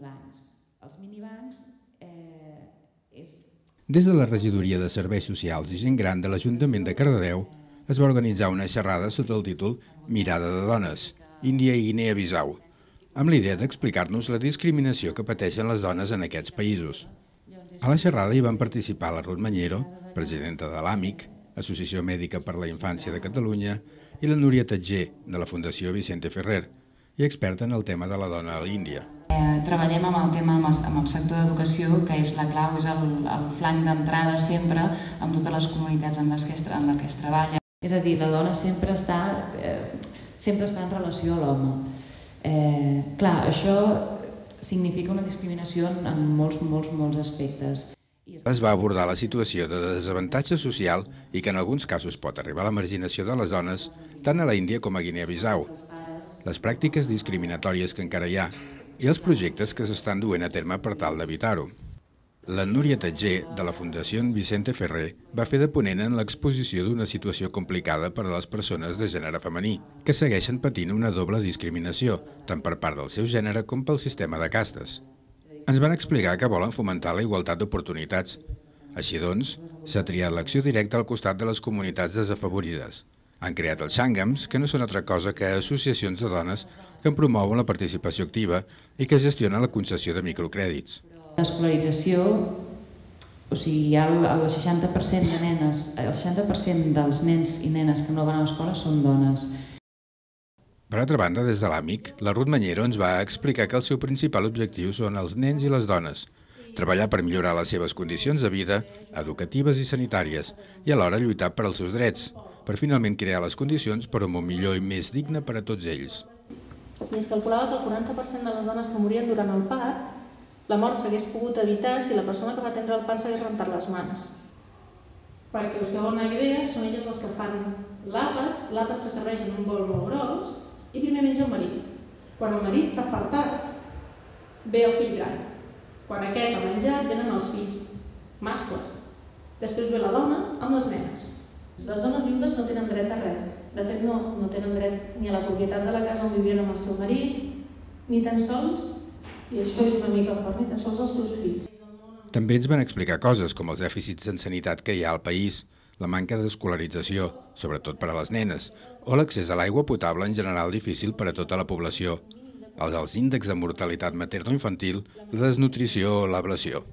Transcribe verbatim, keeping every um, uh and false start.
Els minibancs eh, és... Des de la Regidoria de Serveis Socials i Gent Gran de l'Ajuntament de Cardedeu es va organitzar una xerrada sota el títol Mirada de dones, Índia i Guinea-Bissau, amb l'idea d'explicar-nos la discriminació que pateixen les dones en aquests països. A la xerrada hi van participar la Ruth Mañero, presidenta de l'AMIC, Associació Mèdica per la Infància de Catalunya, i la Núria Tatger, de la Fundació Vicente Ferrer, i experta en el tema de la dona a l'Índia. Eh, treballem amb el tema amb el, amb el sector d'educació, que és la clau, és el, el flanc d'entrada sempre amb totes les comunitats en les que es, en les que es treballa. És a dir, la dona sempre està, eh, sempre està en relació a l'home. Eh, clar, això significa una discriminació en molts, molts, molts aspectes. Es va abordar la situació de desavantatge social i que en alguns casos pot arribar a la marginació de les dones tant a l'Índia com a Guinea-Bissau, les pràctiques discriminatòries que encara hi ha i els projectes que s'estan duent a terme per tal d'evitar-ho. La Núria Tatger, de la Fundació Vicente Ferrer, va fer de ponent en l'exposició d'una situació complicada per a les persones de gènere femení, que segueixen patint una doble discriminació, tant per part del seu gènere com pel sistema de castes. Ens van explicar que volen fomentar la igualtat d'oportunitats. Així doncs, s'ha triat l'acció directa al costat de les comunitats desafavorides. Han creat els Xàngams, que no són altra cosa que associacions de dones que en promouen la participació activa i que gestionen la concessió de microcrèdits. L'escolarització, o sigui, hi ha el seixanta per cent de nenes, el seixanta per cent dels nens i nenes que no van a l'escola són dones. Per altra banda, des de l'AMIC, la Ruth Mañero ens va explicar que el seu principal objectiu són els nens i les dones, treballar per millorar les seves condicions de vida, educatives i sanitàries, i alhora lluitar per als seus drets, per finalment crear les condicions per a un món millor i més digne per a tots ells. I es calculava que el quaranta per cent de les dones que morien durant el part, la mort s'hagués pogut evitar si la persona que va atendre el part s'hagués rentat les mans. Perquè us feu una idea, són elles les que fan l'àpat, l'àpat se serveix en un bol molt gros i primer menja el marit. Quan el marit s'ha fartat, ve el fill gran. Quan aquest ha menjat, venen els fills mascles. Després ve la dona amb les nenes. Les dones viudes no tenen dret a res. De fet, no, no tenen dret ni a la propietat de la casa on vivien amb el seu marit, ni tan sols, i això és una mica fort, ni tan sols els seus fills. També ens van explicar coses com els dèficits en sanitat que hi ha al país, la manca d'escolarització, sobretot per a les nenes, o l'accés a l'aigua potable en general difícil per a tota la població, els alts índexs de mortalitat materno-infantil, la desnutrició o l'ablació.